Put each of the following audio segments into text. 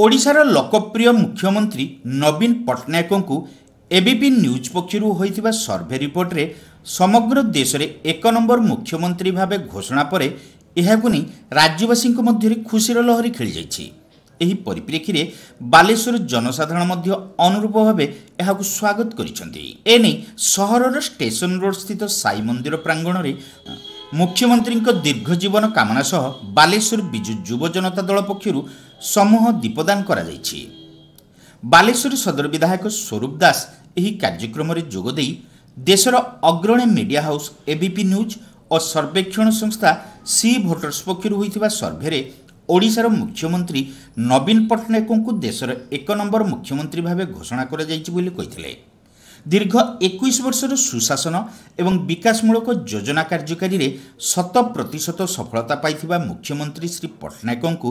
ଓଡ଼ିଶାର ଲୋକପ୍ରିୟ ମୁଖ୍ୟମନ୍ତ୍ରୀ ନବୀନ ପଟ୍ଟନାୟକଙ୍କୁ ଏବିପି ନ୍ୟୁଜ୍ ପକ୍ଷରୁ ହୋଇଥିବା ସର୍ଭେ ରିପୋର୍ଟରେ ସମଗ୍ର ଦେଶରେ ଏକ ନମ୍ବର ମୁଖ୍ୟମନ୍ତ୍ରୀ ଭାବେ ଘୋଷଣା ପରେ ଏହାକୁ ନେଇ ରାଜ୍ୟବାସୀଙ୍କ ମଧ୍ୟରେ ଖୁସିର ଲହରୀ ଖେଳିଯାଇଛି। ଏହି ପରିପ୍ରେକ୍ଷୀରେ ବାଲେଶ୍ୱର ଜନସାଧାରଣ ମଧ୍ୟ ଅନୁରୂପ ଭାବେ ଏହାକୁ ସ୍ୱାଗତ କରିଛନ୍ତି। ଏନେଇ ସହରର ଷ୍ଟେସନ ରୋଡ୍ ସ୍ଥିତ ସାଇ ମନ୍ଦିର ପ୍ରାଙ୍ଗଣରେ ମୁଖ୍ୟମନ୍ତ୍ରୀଙ୍କ ଦୀର୍ଘ ଜୀବନ କାମନା ସହ ବାଲେଶ୍ୱର ବିଜୁ ଯୁବ ଜନତା ଦଳ ପକ୍ଷରୁ ସମୂହ ଦୀପଦାନ କରାଯାଇଛି। ବାଲେଶ୍ୱର ସଦର ବିଧାୟକ ସ୍ୱରୂପ ଦାସ ଏହି କାର୍ଯ୍ୟକ୍ରମରେ ଯୋଗଦେଇ ଦେଶର ଅଗ୍ରଣୀ ମିଡିଆ ହାଉସ୍ ଏବିପି ନ୍ୟୁଜ୍ ଓ ସର୍ବେକ୍ଷଣ ସଂସ୍ଥା ସି ଭୋଟର୍ସ ପକ୍ଷରୁ ହୋଇଥିବା ସର୍ଭେରେ ଓଡ଼ିଶାର ମୁଖ୍ୟମନ୍ତ୍ରୀ ନବୀନ ପଟ୍ଟନାୟକଙ୍କୁ ଦେଶର ଏକ ନମ୍ବର ମୁଖ୍ୟମନ୍ତ୍ରୀ ଭାବେ ଘୋଷଣା କରାଯାଇଛି ବୋଲି କହିଥିଲେ। ଦୀର୍ଘ 21 ବର୍ଷର ସୁଶାସନ ଏବଂ ବିକାଶମୂଳକ ଯୋଜନା କାର୍ଯ୍ୟକାରୀରେ 100% ସଫଳତା ପାଇଥିବା ମୁଖ୍ୟମନ୍ତ୍ରୀ ଶ୍ରୀ ପଟ୍ଟନାୟକଙ୍କୁ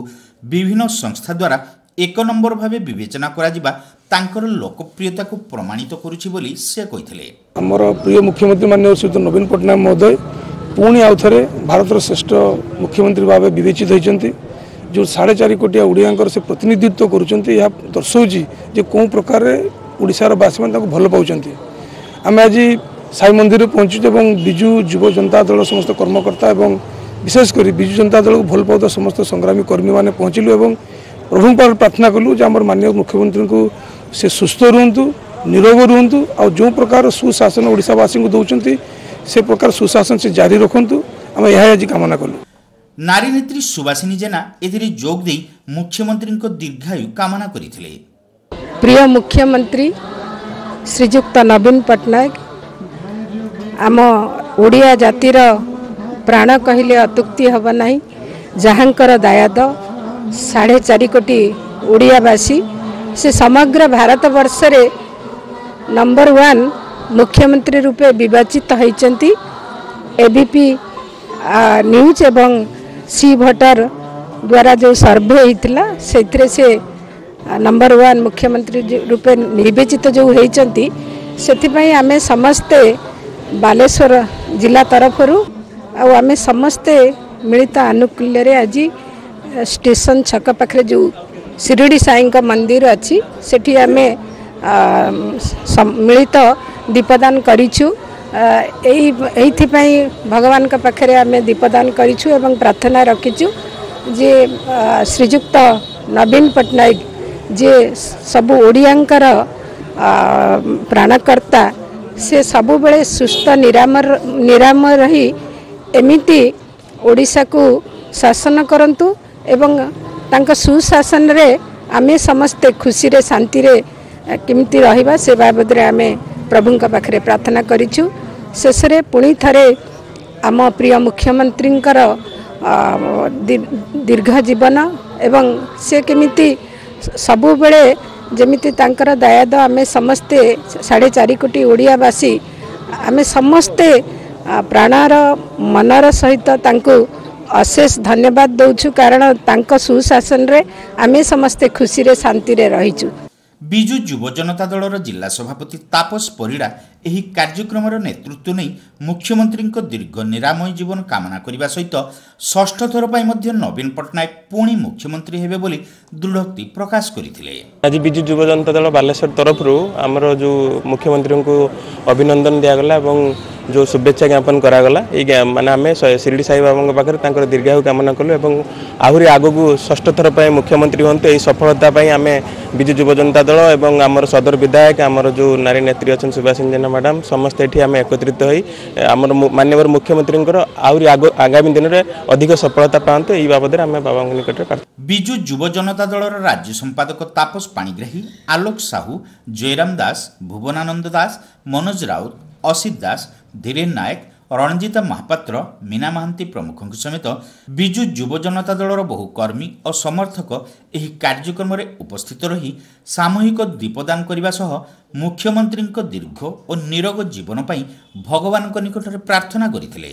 ବିଭିନ୍ନ ସଂସ୍ଥା ଦ୍ୱାରା ଏକ ନମ୍ବର ଭାବେ ବିବେଚନା କରାଯିବା ତାଙ୍କର ଲୋକପ୍ରିୟତାକୁ ପ୍ରମାଣିତ କରୁଛି ବୋଲି ସେ କହିଥିଲେ। ଆମର ପ୍ରିୟ ମୁଖ୍ୟମନ୍ତ୍ରୀ ମାନ୍ୟବର ଶ୍ରୀଯୁକ୍ତ ନବୀନ ପଟ୍ଟନାୟକ ମହୋଦୟ ପୁଣି ଆଉ ଥରେ ଭାରତର ଶ୍ରେଷ୍ଠ ମୁଖ୍ୟମନ୍ତ୍ରୀ ଭାବେ ବିବେଚିତ ହୋଇଛନ୍ତି। ଯେଉଁ 4.5 କୋଟି ଓଡ଼ିଆଙ୍କର ସେ ପ୍ରତିନିଧିତ୍ୱ କରୁଛନ୍ତି, ଏହା ଦର୍ଶାଉଛି ଯେ କେଉଁ ପ୍ରକାରରେ ଓଡ଼ିଶାର ବାସୀମାନେ ତାଙ୍କୁ ଭଲ ପାଉଛନ୍ତି। ଆମେ ଆଜି ସାଇ ମନ୍ଦିରରେ ପହଞ୍ଚିଛୁ ଏବଂ ବିଜୁ ଯୁବ ଜନତା ଦଳ ସମସ୍ତ କର୍ମକର୍ତ୍ତା ଏବଂ ବିଶେଷ କରି ବିଜୁ ଜନତା ଦଳକୁ ଭଲ ପାଉଥିବା ସମସ୍ତ ସଂଗ୍ରାମୀ କର୍ମୀମାନେ ପହଞ୍ଚିଲୁ ଏବଂ ପ୍ରଭୁଙ୍କ ପାଖରେ ପ୍ରାର୍ଥନା କଲୁ ଯେ ଆମର ମାନ୍ୟ ମୁଖ୍ୟମନ୍ତ୍ରୀଙ୍କୁ ସେ ସୁସ୍ଥ ରୁହନ୍ତୁ, ନିରୋଗ ରୁହନ୍ତୁ, ଆଉ ଯେଉଁ ପ୍ରକାର ସୁଶାସନ ଓଡ଼ିଶାବାସୀଙ୍କୁ ଦେଉଛନ୍ତି ସେ ପ୍ରକାର ସୁଶାସନ ସେ ଜାରି ରଖନ୍ତୁ। ଆମେ ଏହା ଆଜି କାମନା କଲୁ। ନାରୀ ନେତ୍ରୀ ସୁବାସିନୀ ଜେନା ଏଥିରେ ଯୋଗ ଦେଇ ମୁଖ୍ୟମନ୍ତ୍ରୀଙ୍କ ଦୀର୍ଘାୟୁ କାମନା କରିଥିଲେ। ପ୍ରିୟ ମୁଖ୍ୟମନ୍ତ୍ରୀ ଶ୍ରୀଯୁକ୍ତ ନବୀନ ପଟ୍ଟନାୟକ ଆମ ଓଡ଼ିଆ ଜାତିର ପ୍ରାଣ କହିଲେ ଅତ୍ୟୁକ୍ତି ହେବ ନାହିଁ, ଯାହାଙ୍କର ଦାୟାଦ 4.5 କୋଟି ଓଡ଼ିଆବାସୀ, ସେ ସମଗ୍ର ଭାରତବର୍ଷରେ ନମ୍ବର 1 ମୁଖ୍ୟମନ୍ତ୍ରୀ ରୂପେ ବିବେଚିତ ହୋଇଛନ୍ତି। ଏବିପି ନ୍ୟୁଜ୍ ଏବଂ ସି ଭୋଟର ଦ୍ୱାରା ଯେଉଁ ସର୍ଭେ ହେଇଥିଲା ସେଥିରେ ସେ ନମ୍ବର 1 ମୁଖ୍ୟମନ୍ତ୍ରୀ ରୂପେ ବିବେଚିତ ଯେଉଁ ହେଇଛନ୍ତି, ସେଥିପାଇଁ ଆମେ ସମସ୍ତେ ବାଲେଶ୍ୱର ଜିଲ୍ଲା ତରଫରୁ ଆଉ ଆମେ ସମସ୍ତେ ମିଳିତ ଆନୁକୂଲ୍ୟରେ ଆଜି ଷ୍ଟେସନ ଛକ ପାଖରେ ଯେଉଁ ଶିରିଡ଼ି ସାଇଙ୍କ ମନ୍ଦିର ଅଛି ସେଠି ଆମେ ମିଳିତ ଦୀପଦାନ କରିଛୁ। ଏଇଥିପାଇଁ ଭଗବାନଙ୍କ ପାଖରେ ଆମେ ଦୀପଦାନ କରିଛୁ ଏବଂ ପ୍ରାର୍ଥନା ରଖିଛୁ ଯେ ଶ୍ରୀଯୁକ୍ତ ନବୀନ ପଟ୍ଟନାୟକ ଯିଏ ସବୁ ଓଡ଼ିଆଙ୍କର ପ୍ରାଣକର୍ତ୍ତା, ସେ ସବୁବେଳେ ସୁସ୍ଥ ନିରାମୟ ରହି ଏମିତି ଓଡ଼ିଶାକୁ ଶାସନ କରନ୍ତୁ ଏବଂ ତାଙ୍କ ସୁଶାସନରେ ଆମେ ସମସ୍ତେ ଖୁସିରେ ଶାନ୍ତିରେ କେମିତି ରହିବା ସେ ବାବଦରେ ଆମେ ପ୍ରଭୁଙ୍କ ପାଖରେ ପ୍ରାର୍ଥନା କରିଛୁ। ଶେଷରେ ପୁଣି ଥରେ ଆମ ପ୍ରିୟ ମୁଖ୍ୟମନ୍ତ୍ରୀଙ୍କର ଦୀର୍ଘ ଜୀବନ ଏବଂ ସେ କେମିତି ସବୁବେଳେ ଯେମିତି ତାଙ୍କର ଦାୟାଦ ଆମେ ସମସ୍ତେ 4.5 କୋଟି ଓଡ଼ିଆବାସୀ ଆମେ ସମସ୍ତେ ପ୍ରାଣର ମନର ସହିତ ତାଙ୍କୁ ଅଶେଷ ଧନ୍ୟବାଦ ଦେଉଛୁ, କାରଣ ତାଙ୍କ ସୁଶାସନରେ ଆମେ ସମସ୍ତେ ଖୁସିରେ ଶାନ୍ତିରେ ରହିଛୁ। ବିଜୁ ଯୁବ ଜନତା ଦଳର ଜିଲ୍ଲା ସଭାପତି ତାପସ ପରିଡ଼ା ଏହି କାର୍ଯ୍ୟକ୍ରମର ନେତୃତ୍ୱ ନେଇ ମୁଖ୍ୟମନ୍ତ୍ରୀଙ୍କ ଦୀର୍ଘ ନିରାମୟ ଜୀବନ କାମନା କରିବା ସହିତ ଷଷ୍ଠ ଥର ପାଇଁ ମଧ୍ୟ ନବୀନ ପଟ୍ଟନାୟକ ପୁଣି ମୁଖ୍ୟମନ୍ତ୍ରୀ ହେବେ ବୋଲି ଦୃଢ଼ୋକ୍ତି ପ୍ରକାଶ କରିଥିଲେ। ଆଜି ବିଜୁ ଯୁବ ଜନତା ଦଳ ବାଲେଶ୍ୱର ତରଫରୁ ଆମର ଯେଉଁ ମୁଖ୍ୟମନ୍ତ୍ରୀଙ୍କୁ ଅଭିନନ୍ଦନ ଦିଆଗଲା ଏବଂ ଯେଉଁ ଶୁଭେଚ୍ଛା ଜ୍ଞାପନ କରାଗଲା, ଏଇ ମାନେ ଆମେ ଶିରିଡ଼ି ସାଇ ବାବାଙ୍କ ପାଖରେ ତାଙ୍କର ଦୀର୍ଘାୟୁ କାମନା କଲୁ ଏବଂ ଆହୁରି ଆଗକୁ ଷଷ୍ଠ ଥର ପାଇଁ ମୁଖ୍ୟମନ୍ତ୍ରୀ ହୁଅନ୍ତୁ, ଏହି ସଫଳତା ପାଇଁ ଆମେ ବିଜୁ ଯୁବ ଜନତା ଦଳ ଏବଂ ଆମର ସଦର ବିଧାୟକ, ଆମର ଯେଉଁ ନାରୀ ନେତ୍ରୀ ଅଛନ୍ତି ସୁବାସିନୀ ଜେନା ମ୍ୟାଡ଼ାମ୍, ସମସ୍ତେ ଏଠି ଆମେ ଏକତ୍ରିତ ହୋଇ ଆମର ମାନ୍ୟବର ମୁଖ୍ୟମନ୍ତ୍ରୀଙ୍କର ଆହୁରି ଆଗାମୀ ଦିନରେ ଅଧିକ ସଫଳତା ପାଆନ୍ତୁ ଏହି ବାବଦରେ ଆମେ ବାବାଙ୍କ ନିକଟରେ ପ୍ରାର୍ଥନା। ବିଜୁ ଯୁବ ଜନତା ଦଳର ରାଜ୍ୟ ସମ୍ପାଦକ ତାପସ ପାଣିଗ୍ରାହୀ, ଆଲୋକ ସାହୁ, ଜୟରାମ ଦାସ, ଭୁବନାନନ୍ଦ ଦାସ, ମନୋଜ ରାଉତ, ଅସିତ ଦାସ, ଧୀରେନ ନାୟକ, ରଣଜିତା ମହାପାତ୍ର, ମୀନା ମହାନ୍ତି ପ୍ରମୁଖଙ୍କ ସମେତ ବିଜୁ ଯୁବ ଜନତା ଦଳର ବହୁ କର୍ମୀ ଓ ସମର୍ଥକ ଏହି କାର୍ଯ୍ୟକ୍ରମରେ ଉପସ୍ଥିତ ରହି ସାମୂହିକ ଦୀପଦାନ କରିବା ସହ ମୁଖ୍ୟମନ୍ତ୍ରୀଙ୍କ ଦୀର୍ଘ ଓ ନିରୋଗ ଜୀବନ ପାଇଁ ଭଗବାନଙ୍କ ନିକଟରେ ପ୍ରାର୍ଥନା କରିଥିଲେ।